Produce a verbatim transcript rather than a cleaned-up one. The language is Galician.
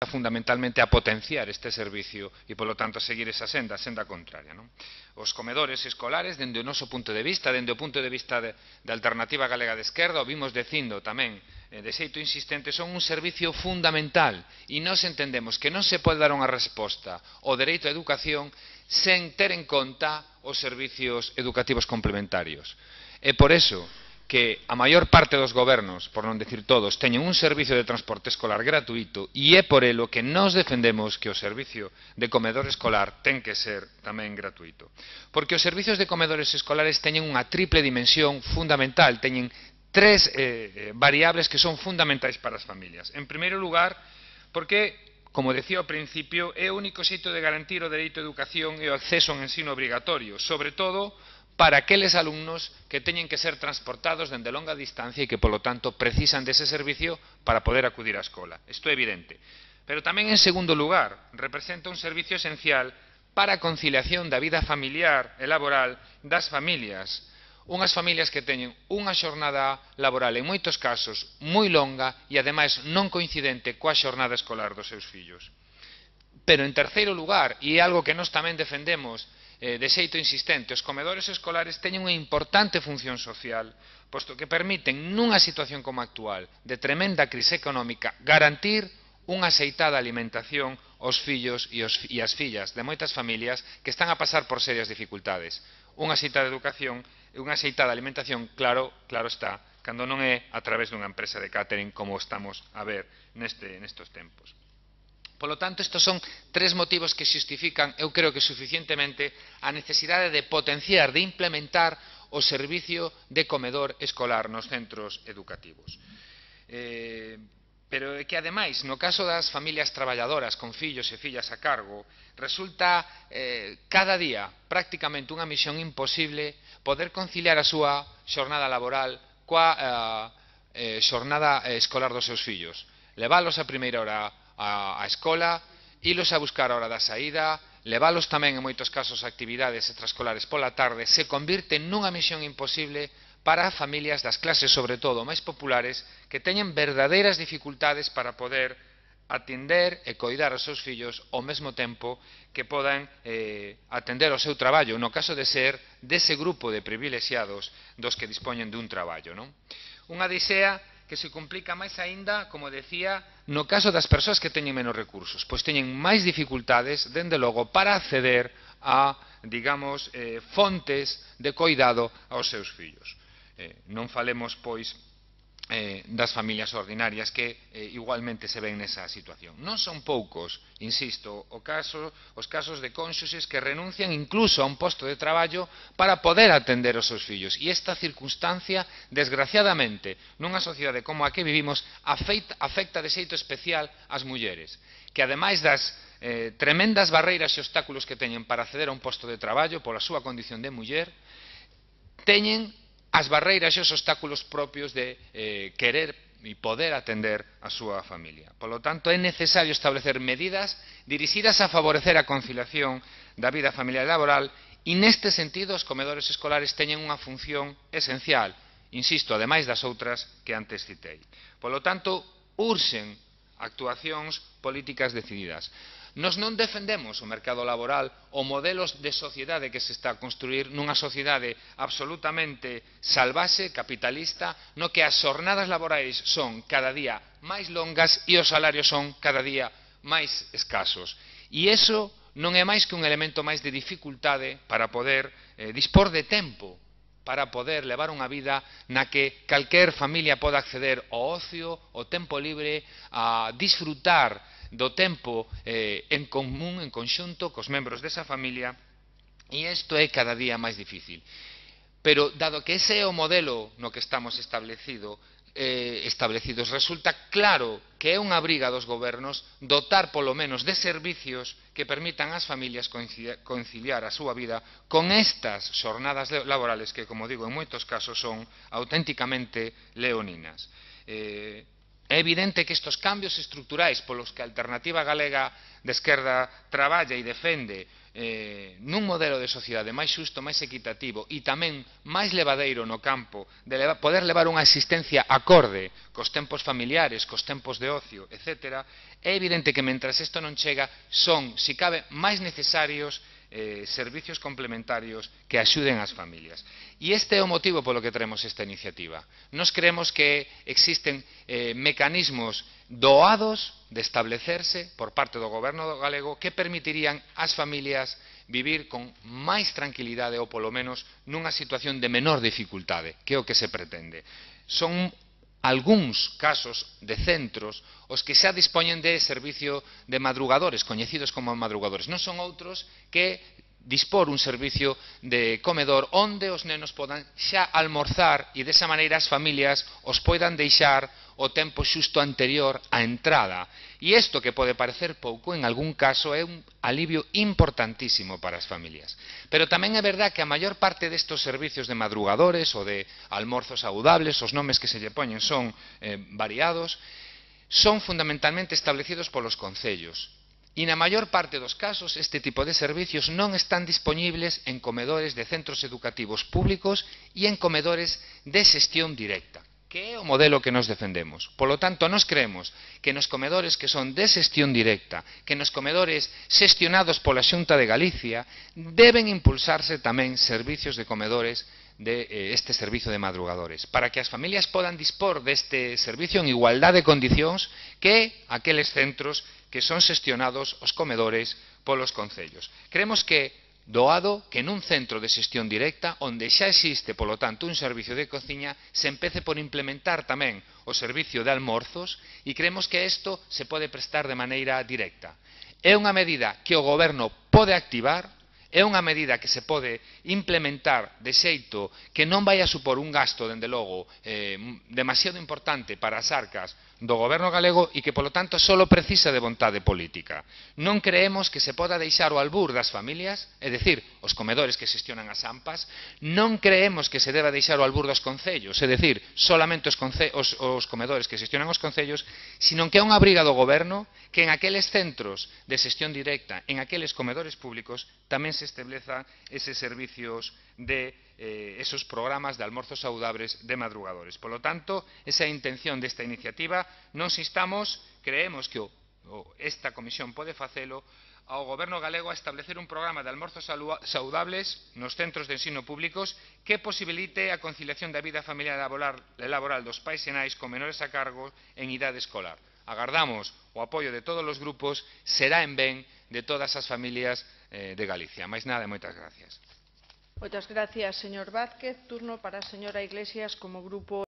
fundamentalmente a potenciar este servicio e, polo tanto, a seguir esa senda, a senda contraria, non? Os comedores escolares, dende o noso punto de vista, dende o punto de vista de, de Alternativa Galega de Esquerda, o vimos dicindo tamén eh, de xeito insistente, son un servicio fundamental e nós entendemos que non se pode dar unha resposta ao dereito á educación sen ter en conta os servicios educativos complementarios. É por eso que a maior parte dos gobernos, por non decir todos, teñen un servicio de transporte escolar gratuito e é por elo que nós defendemos que o servicio de comedor escolar ten que ser tamén gratuito. Porque os servicios de comedores escolares teñen unha triple dimensión fundamental, teñen tres eh, variables que son fundamentais para as familias. En primeiro lugar, porque, como decía ao principio, é o único xeito de garantir o dereito á educación e o acceso ao ensino obrigatorio, sobre todo para aqueles alumnos que teñen que ser transportados dende longa distancia e que, polo tanto, precisan dese servicio para poder acudir á escola. Isto é evidente. Pero tamén, en segundo lugar, representa un servicio esencial para a conciliación da vida familiar e laboral das familias. Unhas familias que teñen unha xornada laboral, en moitos casos, moi longa e, ademais, non coincidente coa xornada escolar dos seus fillos. Pero, en terceiro lugar, e é algo que nós tamén defendemos de xeito insistente, os comedores escolares teñen unha importante función social, posto que permiten, nunha situación como a actual, de tremenda crise económica, garantir unha axeitada alimentación aos fillos e as fillas de moitas familias que están a pasar por serias dificultades. Unha axeitada educación e unha axeitada alimentación, claro, claro está, cando non é a través dunha empresa de catering como estamos a ver neste, nestes tempos. Polo tanto, estes son tres motivos que xustifican, eu creo que suficientemente, a necesidade de potenciar, de implementar o servicio de comedor escolar nos centros educativos. Eh, pero é que, ademais, no caso das familias traballadoras con fillos e fillas a cargo, resulta eh, cada día prácticamente unha misión imposible poder conciliar a súa xornada laboral coa eh, eh, xornada escolar dos seus fillos. Leválos a primeira hora a escola, ilos a buscar a hora da saída, leválos tamén en moitos casos a actividades extraescolares pola tarde, se convirte nunha misión imposible para familias das clases, sobre todo, máis populares, que teñen verdadeiras dificultades para poder atender e coidar aos seus fillos ao mesmo tempo que podan eh, atender o seu traballo, no caso de ser dese grupo de privilexiados dos que dispoñen dun traballo, non? Unha disea que se complica máis aínda, como decía, no caso das persoas que teñen menos recursos, pois teñen máis dificultades, dende logo, para acceder a, digamos, eh, fontes de coidado aos seus fillos. Eh, non falemos, pois, eh, das familias ordinarias que eh, igualmente se ven nesa situación. Non son poucos, insisto, o caso, os casos de cónxuxes que renuncian incluso a un posto de traballo para poder atender os seus fillos. E esta circunstancia, desgraciadamente, nunha sociedade como a que vivimos, afecta, afecta de xeito especial ás mulleres, que ademais das eh, tremendas barreiras e obstáculos que teñen para acceder a un posto de traballo pola súa condición de muller, teñen as barreiras e os obstáculos propios de eh, querer e poder atender a súa familia. Por lo tanto, é necesario establecer medidas dirixidas a favorecer a conciliación da vida familiar e laboral e, neste sentido, os comedores escolares teñen unha función esencial, insisto, ademais das outras que antes citei. Por lo tanto, urxen actuacións políticas decididas. Nos non defendemos o mercado laboral ou modelos de sociedade que se está a construir nunha sociedade absolutamente salvaxe, capitalista, no que as xornadas laborais son cada día máis longas e os salarios son cada día máis escasos. E iso non é máis que un elemento máis de dificultade para poder eh, dispor de tempo, para poder levar unha vida na que calquer familia poda acceder ao ocio, ao tempo libre, a disfrutar do tempo eh, en común, en conxunto, cos membros desa familia, e isto é cada día máis difícil. Pero, dado que ese é o modelo no que estamos establecido, eh, establecidos, resulta claro que é unha obriga dos gobernos dotar polo menos de servicios que permitan ás familias conciliar a súa vida con estas xornadas laborales que, como digo, en moitos casos son auténticamente leoninas. Eh, É evidente que estes cambios estruturais polos que a Alternativa Galega de Esquerda traballa e defende eh, nun modelo de sociedade máis xusto, máis equitativo e tamén máis levadeiro no campo de leva, poder levar unha existencia acorde cos tempos familiares, cos tempos de ocio, etcétera, é evidente que mentras isto non chega son, si cabe, máis necesarios Eh, servicios complementarios que axuden ás familias. E este é o motivo polo que traemos esta iniciativa. Nos creemos que existen eh, mecanismos doados de establecerse por parte do goberno galego que permitirían ás familias vivir con máis tranquilidade ou polo menos nunha situación de menor dificultade, que é o que se pretende. Son algúns casos de centros os que xa dispoñen de servicio de madrugadores, coñecidos como madrugadores. Non son outros que dispor un servicio de comedor onde os nenos podan xa almorzar e desa maneira as familias os poidan deixar o tempo xusto anterior á entrada. E isto, que pode parecer pouco, en algún caso é un alivio importantísimo para as familias. Pero tamén é verdad que a maior parte destes servicios de madrugadores ou de almorzos saudables, os nomes que se lle poñen son eh, variados, son fundamentalmente establecidos polos concellos. E na maior parte dos casos este tipo de servicios non están dispoñibles en comedores de centros educativos públicos e en comedores de xestión directa, que é o modelo que nos defendemos. Polo tanto, nos creemos que nos comedores que son de xestión directa, que nos comedores xestionados pola Xunta de Galicia, deben impulsarse tamén servicios de comedores de eh, este servicio de madrugadores, para que as familias podan dispor deste servicio en igualdade de condicións que aqueles centros que son xestionados os comedores polos concellos. Creemos que doado que nun centro de xestión directa, onde xa existe, polo tanto, un servicio de cociña, se empece por implementar tamén o servicio de almorzos e creemos que isto se pode prestar de maneira directa. É unha medida que o goberno pode activar, é unha medida que se pode implementar de xeito que non vai a supor un gasto, dende logo, eh, demasiado importante para as arcas do goberno galego e que, polo tanto, só precisa de vontade política. Non creemos que se poda deixar o albur das familias, é dicir, os comedores que xestionan as AMPAs, non creemos que se deba deixar o albur dos concellos, é dicir, solamente os, os, os comedores que xestionan os concellos, sino que é unha obriga do goberno que en aqueles centros de xestión directa, en aqueles comedores públicos, tamén se establezan eses servicios de eh, esos programas de almorzos saudables de madrugadores. Por lo tanto, esa é a intención desta iniciativa. Nos instamos, creemos que o, o, esta comisión pode facelo, ao goberno galego a establecer un programa de almorzos saudables nos centros de ensino públicos que posibilite a conciliación da vida familiar e laboral dos pais e nais con menores a cargo en idade escolar. Agardamos o apoio de todos os grupos, será en ben de todas as familias eh, de Galicia. Máis nada e moitas gracias. Moitas gracias, señor Vázquez. Turno para a señora Iglesias como grupo